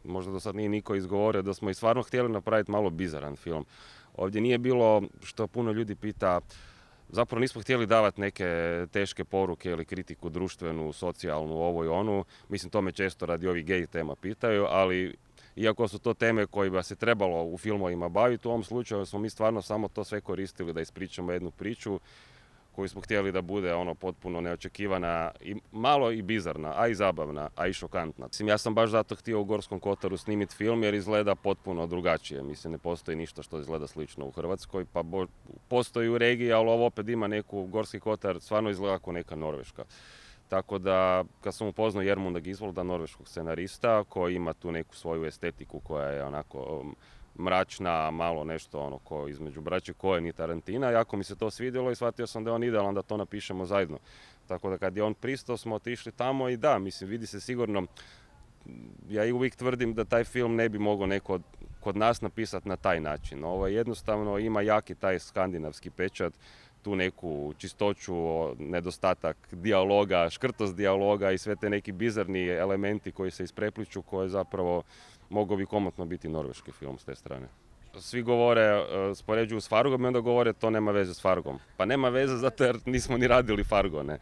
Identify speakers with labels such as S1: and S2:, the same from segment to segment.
S1: možda do sad nije niko izgovorio, da smo i stvarno htjeli napraviti malo bizaran film. Ovdje nije bilo, što puno ljudi pita, zapravo nismo htjeli davati neke teške poruke ili kritiku društvenu, socijalnu, ovo i onu. Mislim, to me često radi ovih gej tema pitaju, ali iako su to teme kojima se trebalo u filmovima baviti, u ovom slučaju smo mi stvarno samo to sve koristili da ispričamo jednu priču koju smo htjeli da bude potpuno neočekivana i malo i bizarna, a i zabavna, a i šokantna. Mislim, ja sam baš zato htio u Gorskom kotaru snimiti film jer izgleda potpuno drugačije. Mislim, ne postoji ništa što izgleda slično u Hrvatskoj, pa postoji u regiji, ali ovo opet ima neku, Gorski kotar stvarno izgleda kao neka Norveška. Tako da, kad sam upoznao Jermunda Gisvolda, norveškog scenarista, koji ima tu neku svoju estetiku koja je onako mračna, malo nešto ko između braće Coen i Tarantina. Jako mi se to svidjelo i shvatio sam da je on idealan da to napišemo zajedno. Tako da kad je on pristao smo otišli tamo i da, mislim, vidi se sigurno, ja i uvijek tvrdim da taj film ne bi mogao neko kod nas napisati na taj način. Ovo jednostavno ima jaki taj skandinavski pečat, tu neku čistoću, nedostatak dijaloga, škrtost dijaloga i sve te neki bizarni elementi koji se isprepliču, koje zapravo mogao bi komotno biti norveški film s te strane. Svi govore, spoređuju s Fargom i onda govore to nema veze s Fargom. Pa nema veze zato jer nismo ni radili Fargo, ne.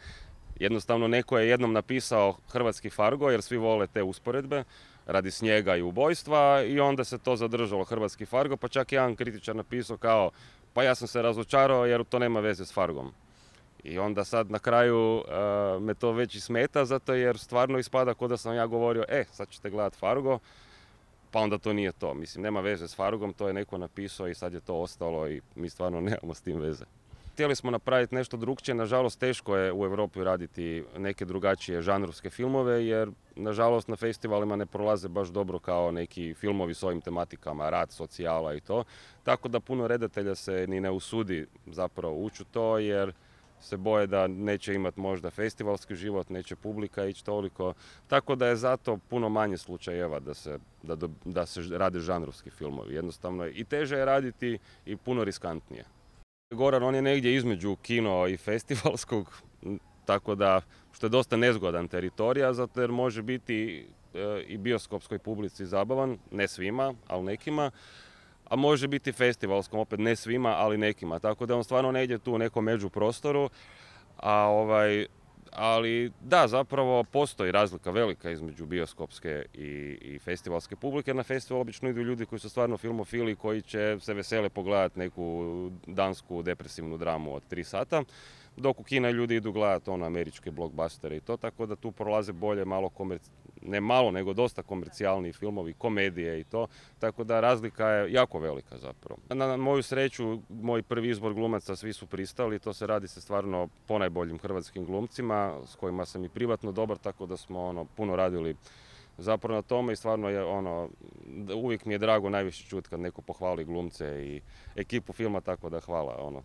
S1: Jednostavno neko je jednom napisao hrvatski Fargo jer svi vole te usporedbe radi snijega i ubojstva i onda se to zadržalo hrvatski Fargo, pa čak jedan kritičar napisao kao pa ja sam se razočarao jer to nema veze s Fargom. I onda sad na kraju me to već i smeta zato jer stvarno ispada kao da sam ja govorio sad ćete gledati Fargo, pa onda to nije to. Mislim, nema veze s Fargom, to je neko napisao i sad je to ostalo i mi stvarno nemamo s tim veze. Htjeli smo napraviti nešto drukčije, nažalost teško je u Europi raditi neke drugačije žanrovske filmove jer nažalost na festivalima ne prolaze baš dobro kao neki filmovi s ovim tematikama, rad, socijala i to. Tako da puno redatelja se ni ne usudi zapravo ući u to jer se boje da neće imati možda festivalski život, neće publika ići toliko. Tako da je zato puno manje slučajeva da se rade žanrovski filmovi. Jednostavno i teže je raditi i puno riskantnije. Goran, on je negdje između kino i festivalskog, tako da, što je dosta nezgodan teritorija, zato jer može biti i bioskopskoj publici zabavan, ne svima, ali nekima, a može biti festivalskom, opet ne svima, ali nekima. Tako da on stvarno negdje tu u nekom međuprostoru, ali da, zapravo postoji razlika velika između bioskopske i festivalske publike. Na festival obično idu ljudi koji su stvarno filmofili, koji će se vesele pogledati neku dansku depresivnu dramu od 3 sata, dok u kina ljudi idu gledati američke blockbustere i to, tako da tu prolaze bolje ne malo, nego dosta komercijalni filmovi, komedije i to, tako da razlika je jako velika zapravo. Na moju sreću, moj prvi izbor glumaca svi su pristali, to se radi stvarno ponajboljim hrvatskim glumcima, s kojima sam i privatno dobar, tako da smo puno radili zapravo na tome i stvarno je uvijek mi je drago najviše čuti kad neko pohvali glumce i ekipu filma, tako da hvala.